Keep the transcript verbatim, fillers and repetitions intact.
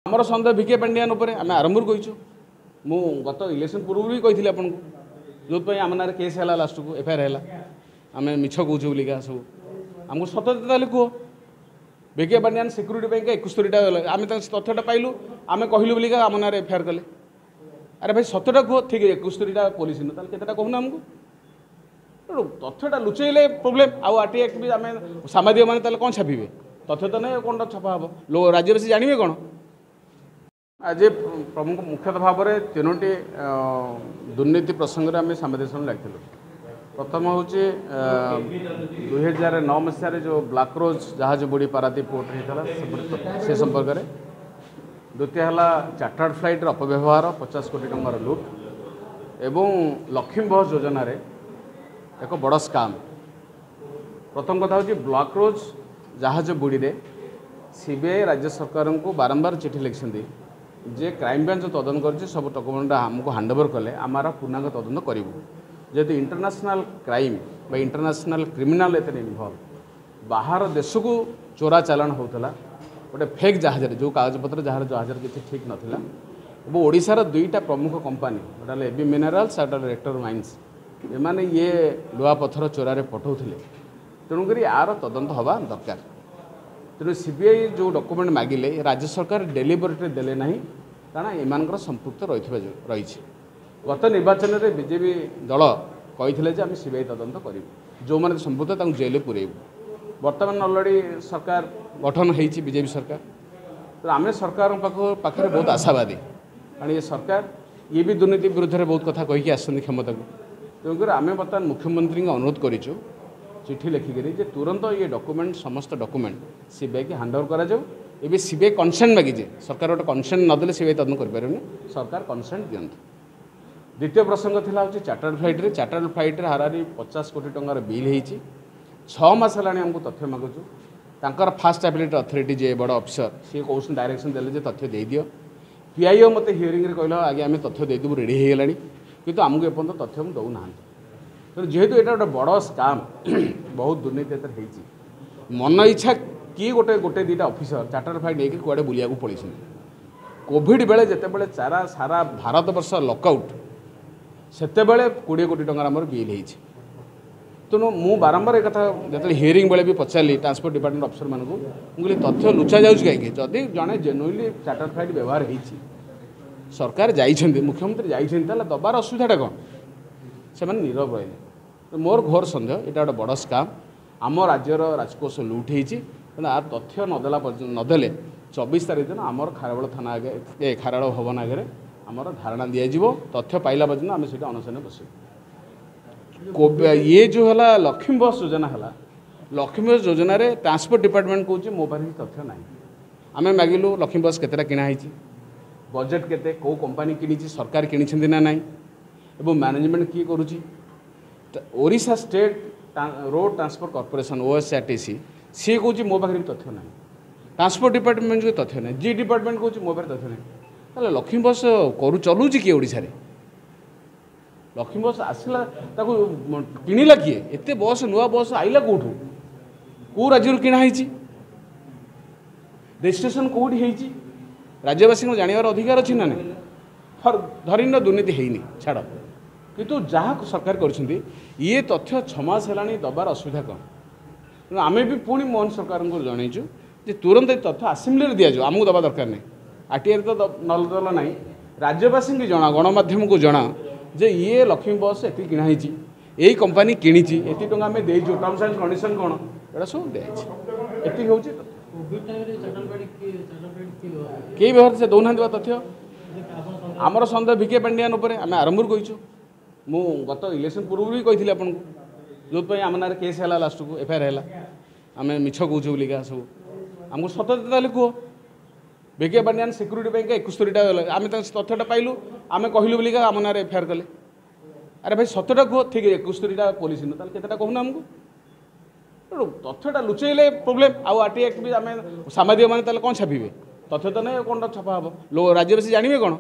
ଆମର ସନ୍ଦେହ ଭିକେ ପାଣ୍ଡିଆନ ଉପରେ ଆମେ ଆରମ୍ଭରୁ କହିଛୁ। ମୁଁ ଗତ ଇଲେକ୍ସନ୍ ପୂର୍ବରୁ ବି କହିଥିଲି ଆପଣଙ୍କୁ, ଯେଉଁଥିପାଇଁ ଆମ ନାଁରେ କେସ୍ ହେଲା, ଲାଷ୍ଟକୁ ଏଫଆଇଆର୍ ହେଲା, ଆମେ ମିଛ କହୁଛୁ ବୋଲିକା ସବୁ। ଆମକୁ ସତ ତାହେଲେ କୁହ। ଭିକେ ପାଣ୍ଡିଆନ ସିକ୍ୟୁରିଟି ପାଇଁକା ଏକସ୍ତରୀଟା, ଆମେ ତାଙ୍କ ତଥ୍ୟଟା ପାଇଲୁ, ଆମେ କହିଲୁ ବୋଲିକା ଆମ ନାଁରେ ଏଫଆଇଆର୍ କଲେ। ଆରେ ଭାଇ, ସତଟା କୁହ। ଠିକ୍, ଏକସ୍ତରୀଟା ପୋଲିସ ନୁହଁ, ତାହେଲେ କେତେଟା କହୁନ ଆମକୁ? ତେଣୁ ତଥ୍ୟଟା ଲୁଚେଇଲେ ପ୍ରୋବ୍ଲେମ୍। ଆଉ ଆର୍ ଟି ଆକ୍ଟ ବି ଆମେ ସାମ୍ବାଦିକମାନେ ତାହେଲେ କ'ଣ ଛାପିବେ? ତଥ୍ୟ ତ ନାହିଁ, କ'ଣଟା ଛପା ହେବ? ଲୋ ରାଜ୍ୟବାସୀ ଜାଣିବେ କ'ଣ? ଆଜି ପ୍ରମୁଖ ମୁଖ୍ୟତଃ ଭାବରେ ତିନୋଟି ଦୁର୍ନୀତି ପ୍ରସଙ୍ଗରେ ଆମେ ସାମ୍ବାଦିକ ସମ୍ମିଳନୀ ଡାକିଥିଲୁ। ପ୍ରଥମ ହେଉଛି ଦୁଇହଜାର ନଅ ମସିହାରେ ଯେଉଁ ବ୍ଲାକ୍ ରୋଜ୍ ଜାହାଜ ବୁଡ଼ି ପାରାଦୀପ ପୋର୍ଟରେ ହେଇଥିଲା ସେ ସମ୍ପର୍କରେ। ଦ୍ୱିତୀୟ ହେଲା ଚାର୍ଟାର୍ଡ଼ ଫ୍ଲାଇଟ୍ର ଅପବ୍ୟବହାର, ପଚାଶ କୋଟି ଟଙ୍କାର ଲୁଟ୍, ଏବଂ ଲକ୍ଷ୍ମୀ ବସ୍ ଯୋଜନାରେ ଏକ ବଡ଼ ସ୍କାମ୍। ପ୍ରଥମ କଥା ହେଉଛି ବ୍ଲାକ୍ ରୋଜ୍ ଜାହାଜ ବୁଡ଼ିରେ ସିବିଆଇ ରାଜ୍ୟ ସରକାରଙ୍କୁ ବାରମ୍ବାର ଚିଠି ଲେଖିଛନ୍ତି ଯେ କ୍ରାଇମବ୍ରାଞ୍ଚ ତଦନ୍ତ କରିଛି, ସବୁ ଡକୁମେଣ୍ଟଟା ଆମକୁ ହ୍ୟାଣ୍ଡଓଭର କଲେ ଆମର ପୂର୍ଣ୍ଣାଙ୍ଗ ତଦନ୍ତ କରିବୁ। ଯେହେତୁ ଇଣ୍ଟରନ୍ୟାସନାଲ୍ କ୍ରାଇମ୍ ବା ଇଣ୍ଟରନ୍ୟାସନାଲ୍ କ୍ରିମିନାଲ୍ ଏଥିରେ ଇନଭଲ୍ଭ, ବାହାର ଦେଶକୁ ଚୋରା ଚାଲାଣ ହେଉଥିଲା ଗୋଟେ ଫେକ୍ ଜାହାଜରେ, ଯେଉଁ କାଗଜପତ୍ର ଯାହାର ଜାହାଜରେ କିଛି ଠିକ୍ ନଥିଲା। ଏବଂ ଓଡ଼ିଶାର ଦୁଇଟା ପ୍ରମୁଖ କମ୍ପାନୀ, ଗୋଟେ ହେଲା এবି ମିନେରାଲ୍ସ ଆଉ ଗୋଟେ ରେକ୍ଟର ମାଇନ୍ସ, ଏମାନେ ଇଏ ଲୁହାପଥର ଚୋରାରେ ପଠାଉଥିଲେ। ତେଣୁକରି ଆର ତଦନ୍ତ ହେବା ଦରକାର। ତେଣୁ ସିବିଆଇ ଯେଉଁ ଡକୁମେଣ୍ଟ ମାଗିଲେ ରାଜ୍ୟ ସରକାର ଡେଲିବରେଟଲି ଦେଲେ ନାହିଁ, କାରଣ ଏମାନଙ୍କର ସମ୍ପୃକ୍ତ ରହିଥିବା ରହିଛି। ଗତ ନିର୍ବାଚନରେ ବିଜେପି ଦଳ କହିଥିଲେ ଯେ ଆମେ ସିବିଆଇ ତଦନ୍ତ କରିବୁ, ଯେଉଁମାନେ ସମ୍ପୃକ୍ତ ତାଙ୍କୁ ଜେଲରେ ପୁରେଇବୁ। ବର୍ତ୍ତମାନ ଅଲରେଡ଼ି ସରକାର ଗଠନ ହେଇଛି, ବିଜେପି ସରକାର। ତେଣୁ ଆମେ ସରକାରଙ୍କ ପାଖ ପାଖରେ ବହୁତ ଆଶାବାଦୀ, କାରଣ ଏ ସରକାର ଇଏ ବି ଦୁର୍ନୀତି ବିରୁଦ୍ଧରେ ବହୁତ କଥା କହିକି ଆସିଛନ୍ତି କ୍ଷମତାକୁ। ତେଣୁକରି ଆମେ ବର୍ତ୍ତମାନ ମୁଖ୍ୟମନ୍ତ୍ରୀଙ୍କୁ ଅନୁରୋଧ କରିଛୁ ଚିଠି ଲେଖିକରି ଯେ ତୁରନ୍ତ ଇଏ ଡକୁମେଣ୍ଟ, ସମସ୍ତ ଡକୁମେଣ୍ଟ ସିବିଆଇକି ହ୍ୟାଣ୍ଡଓଭର କରାଯାଉ। ଏବେ ସିବିଆଇ କନସେଣ୍ଟ ମାଗିଛି, ସରକାର ଗୋଟେ କନସେଣ୍ଟ ନଦେଲେ ସିବିଆଇ ତଦନ୍ତ କରିପାରିବନି, ସରକାର କନସେଣ୍ଟ ଦିଅନ୍ତୁ। ଦ୍ୱିତୀୟ ପ୍ରସଙ୍ଗ ଥିଲା ହେଉଛି ଚାର୍ଟାର୍ଡ଼ ଫ୍ଲାଇଟ୍ରେ। ଚାର୍ଟାର୍ଡ଼ ଫ୍ଲାଇଟ୍ରେ ହାରାହାରି ପଚାଶ କୋଟି ଟଙ୍କାର ବିଲ୍ ହେଇଛି। ଛଅ ମାସ ହେଲାଣି ଆମକୁ ତଥ୍ୟ ମାଗୁଛୁ। ତାଙ୍କର ଫାଷ୍ଟ ଆପିଲେଟ୍ ଅଥରିଟି ଯିଏ ବଡ଼ ଅଫିସର, ସିଏ କହୁଛନ୍ତି, ଡାଇରେକ୍ସନ୍ ଦେଲେ ଯେ ତଥ୍ୟ ଦେଇଦିଅ। ପିଆଇଓ ମୋତେ ହିୟରିଂରେ କହିଲା, ଆଜ୍ଞା ଆମେ ତଥ୍ୟ ଦେଇଦେବୁ, ରେଡ଼ି ହେଇଗଲାଣି, କିନ୍ତୁ ଆମକୁ ଏପର୍ଯ୍ୟନ୍ତ ତଥ୍ୟ ଦେଉନାହାନ୍ତି। ତେଣୁ ଯେହେତୁ ଏଇଟା ଗୋଟେ ବଡ଼ ସ୍କାମ୍, ବହୁତ ଦୁର୍ନୀତି ଏଥିରେ ହେଇଛି, ମନ ଇଚ୍ଛା କିଏ ଗୋଟେ ଗୋଟେ ଦୁଇଟା ଅଫିସର ଚାର୍ଟାର୍ଡ଼ ଫ୍ଲାଇଟ୍ ନେଇକି କୁଆଡ଼େ ବୁଲିବାକୁ ପଳେଇଛନ୍ତି। କୋଭିଡ଼ ବେଳେ ଯେତେବେଳେ ଚାରା ସାରା ଭାରତବର୍ଷ ଲକଆଉଟ୍, ସେତେବେଳେ କୋଡ଼ିଏ କୋଟି ଟଙ୍କାର ଆମର ବିଲ୍ ହେଇଛି। ତେଣୁ ମୁଁ ବାରମ୍ବାର ଏ କଥା ଯେତେବେଳେ ହିୟରିଂ ବେଳେ ବି ପଚାରିଲି ଟ୍ରାନ୍ସପୋର୍ଟ ଡିପାର୍ଟମେଣ୍ଟ ଅଫିସରମାନଙ୍କୁ, ମୁଁ କହିଲି ତଥ୍ୟ ଲୁଚା ଯାଉଛି କାହିଁକି? ଯଦି ଜଣେ ଜେନୁଇନଲି ଚାର୍ଟାର୍ଡ଼ ଫ୍ଲାଇଟ୍ ବ୍ୟବହାର ହେଇଛି, ସରକାର ଯାଇଛନ୍ତି, ମୁଖ୍ୟମନ୍ତ୍ରୀ ଯାଇଛନ୍ତି, ତାହେଲେ ଦେବାର ଅସୁବିଧାଟା କ'ଣ? ସେମାନେ ନୀରବ ରହିଲେ। ମୋର ଘୋର ସନ୍ଦେହ ଏଇଟା ଗୋଟେ ବଡ଼ ସ୍କାମ୍, ଆମ ରାଜ୍ୟର ରାଜକୋଷ ଲୁଟ୍ ହେଇଛି। ତେଣୁ ଆ ତଥ୍ୟ ନଦେଲା ପର୍ଯ୍ୟନ୍ତ ନଦେଲେ ଚବିଶ ତାରିଖ ଦିନ ଆମର ଖାରବେଳ ଥାନା ଆଗରେ, ଏ ଖାରବେଳ ଭବନ ଆଗରେ ଆମର ଧାରଣା ଦିଆଯିବ। ତଥ୍ୟ ପାଇଲା ପର୍ଯ୍ୟନ୍ତ ଆମେ ସେଇଠି ଅନଶନରେ ବସିବୁ। ଇଏ ଯେଉଁ ହେଲା ଲକ୍ଷ୍ମୀ ବସ୍ ଯୋଜନା ହେଲା, ଲକ୍ଷ୍ମୀ ବସ୍ ଯୋଜନାରେ ଟ୍ରାନ୍ସପୋର୍ଟ ଡିପାର୍ଟମେଣ୍ଟ କହୁଛି ମୋ ପାଖରେ କିଛି ତଥ୍ୟ ନାହିଁ। ଆମେ ମାଗିଲୁ ଲକ୍ଷ୍ମୀ ବସ୍ କେତେଟା କିଣା ହେଇଛି, ବଜେଟ୍ କେତେ, କେଉଁ କମ୍ପାନୀ କିଣିଛି, ସରକାର କିଣିଛନ୍ତି ନା ନାହିଁ, ଏବଂ ମ୍ୟାନେଜମେଣ୍ଟ କିଏ କରୁଛି। Odisha state road transport corporation OSRTC ସିଏ କହୁଛି ମୋ ପାଖରେ ବି ତଥ୍ୟ ନାହିଁ। ଟ୍ରାନ୍ସପୋର୍ଟ ଡିପାର୍ଟମେଣ୍ଟକୁ ତଥ୍ୟ ନାହିଁ, ଜି ଡିପାର୍ଟମେଣ୍ଟ କହୁଛି ମୋ ପାଖରେ ତଥ୍ୟ ନାହିଁ। ତାହେଲେ ଲକ୍ଷ୍ମୀ ବସ୍ କରୁ ଚଲାଉଛି କିଏ ଓଡ଼ିଶାରେ? ଲକ୍ଷ୍ମୀ ବସ୍ ଆସିଲା, ତାକୁ କିଣିଲା କିଏ? ଏତେ ବସ୍, ନୂଆ ବସ୍ ଆଇଲା କେଉଁଠୁ? କେଉଁ ରାଜ୍ୟରୁ କିଣା ହେଇଛି? ରେଜିଷ୍ଟ୍ରେସନ୍ କେଉଁଠି ହେଇଛି? ରାଜ୍ୟବାସୀଙ୍କୁ ଜାଣିବାର ଅଧିକାର ଅଛି ନା ନାହିଁ? ଧରିନିଅ ଦୁର୍ନୀତି ହେଇନି, ଛାଡ଼, କିନ୍ତୁ ଯାହା ସରକାର କରିଛନ୍ତି ଇଏ ତଥ୍ୟ ଛଅ ମାସ ହେଲାଣି ଦେବାର ଅସୁବିଧା କ'ଣ? ତେଣୁ ଆମେ ବି ପୁଣି ମୋହନ ସରକାରଙ୍କୁ ଜଣେଇଛୁ ଯେ ତୁରନ୍ତ ଏ ତଥ୍ୟ ଆସେମ୍ବଲିରେ ଦିଆଯାଉ, ଆମକୁ ଦେବା ଦରକାର ନାହିଁ। ଆର୍ଟିଆଇ ତ ନଦେଲା ନାହିଁ, ରାଜ୍ୟବାସୀଙ୍କୁ ଜଣା, ଗଣମାଧ୍ୟମକୁ ଜଣା ଯେ ଇଏ ଲକ୍ଷ୍ମୀ ବସ୍ ଏତିକି କିଣା ହେଇଛି, ଏଇ କମ୍ପାନୀ କିଣିଛି, ଏତିକି ଟଙ୍କା ଆମେ ଦେଇଛୁ, ଟର୍ମସ୍ ଆଣ୍ଡ କଣ୍ଡିସନ୍ କ'ଣ, ଏଇଟା ସବୁ ଦିଆଯାଇଛି। ଏତିକି ହେଉଛି। କେହି ବ୍ୟବହାର ସେ ଦେଉନାହାନ୍ତି ବା ତଥ୍ୟ। ଆମର ସନ୍ଦେହ ଭିକେ ପାଣ୍ଡିଆନ ଉପରେ ଆମେ ଆରମ୍ଭରୁ କହିଛୁ। ମୁଁ ଗତ ଇଲେକ୍ସନ୍ ପୂର୍ବରୁ ବି କହିଥିଲି ଆପଣଙ୍କୁ, ଯେଉଁଥିପାଇଁ ଆମ ନାଁରେ କେସ୍ ହେଲା, ଲାଷ୍ଟକୁ ଏଫଆଇଆର୍ ହେଲା, ଆମେ ମିଛ କହୁଛୁ ବୋଲିକା ସବୁ। ଆମକୁ ସତ ତାହେଲେ କୁହ। ଭିକେ ପାଣ୍ଡିଆନ ସିକ୍ୟୁରିଟି ପାଇଁକା ଏକସ୍ତରୀଟା, ଆମେ ତାଙ୍କ ତଥ୍ୟଟା ପାଇଲୁ, ଆମେ କହିଲୁ ବୋଲିକା ଆମ ନାଁରେ ଏଫଆଇଆର୍ କଲେ। ଆରେ ଭାଇ, ସତଟା କୁହ। ଠିକ୍, ଏକସ୍ତରୀଟା ପୋଲିସ ନୁହଁ, ତାହେଲେ କେତେଟା କହୁନ ଆମକୁ? ତେଣୁ ତଥ୍ୟଟା ଲୁଚେଇଲେ ପ୍ରୋବ୍ଲେମ୍। ଆଉ ଆର୍ ଟି ଆକ୍ଟ ବି ଆମେ ସାମ୍ବାଦିକମାନେ ତାହେଲେ କ'ଣ ଛାପିବେ? ତଥ୍ୟ ତ ନାହିଁ, କ'ଣଟା ଛପା ହେବ? ଲୋ ରାଜ୍ୟବାସୀ ଜାଣିବେ କ'ଣ?